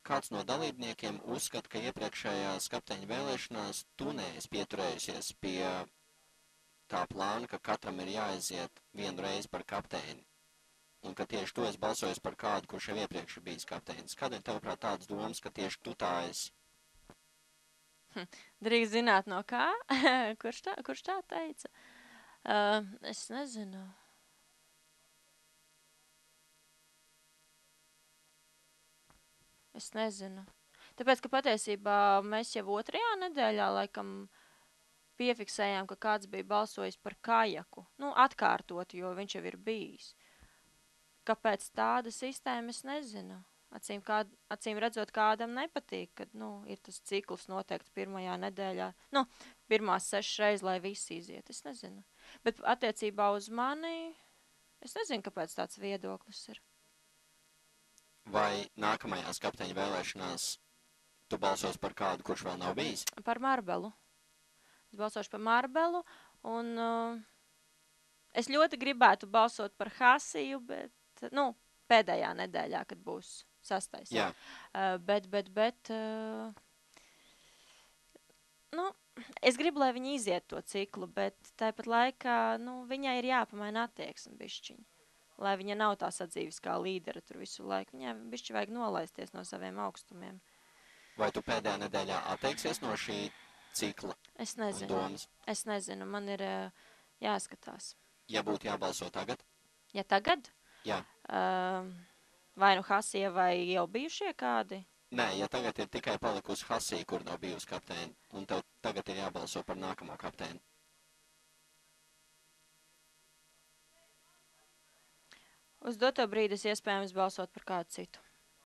kāds no dalībniekiem uzskata, ka iepriekšējās kapteiņa vēlēšanās tu neesi pieturējusies pie tā plāna, ka katram ir jāaiziet vienu reizi par kapteini, un ka tieši tu esi balsojis par kādu, kurš jau iepriekš ir bijis kapteinis. Kādēļ tavuprāt tādas domas, ka tieši tu tā esi? Drīkst zināt no kā? Kurš tā teica? Es nezinu. Es nezinu. Tāpēc, ka patiesībā mēs jau 2. nedēļā laikam piefiksējām, ka kāds bija balsojis par kajaku. Nu, atkārtot, jo viņš jau ir bijis. Kāpēc tāda sistēma, es nezinu. Acīm redzot, kādam nepatīk, kad, ir tas cikls noteikti 1. nedēļā. Pirmās 6 reizes, lai visi iziet. Es nezinu. Bet attiecībā uz mani, es nezinu, kāpēc tāds viedoklis ir. Vai nākamajās kapteiņa vēlēšanās tu balsos par kādu, kurš vēl nav bijis? Par Marbelu. Es balsošu par Marbelu, un es ļoti gribētu balsot par Hasiju, bet, pēdējā nedēļā, kad būs 6. Jā. Es gribu, lai viņi iziet to ciklu, bet tāpat laikā, viņai ir jāpamaina attieksme bišķiņi. Lai viņa nav tā sadzīves kā līdera tur visu laiku. Viņai bišķi vajag nolaisties no saviem augstumiem. Vai tu pēdējā nedēļā atteiksies no šī cikla? Es nezinu. Domas? Es nezinu. Man ir jāskatās. Ja būtu jābalso tagad? Ja tagad? Jā. Vai nu Hasija vai jau bijušie kādi? Nē, ja tagad ir tikai palikusi Hasija, kur nav bijusi kapteini, un tev tagad ir jābalso par nākamo kapteini. Uz doto brīdi es iespējams balsot par kādu citu.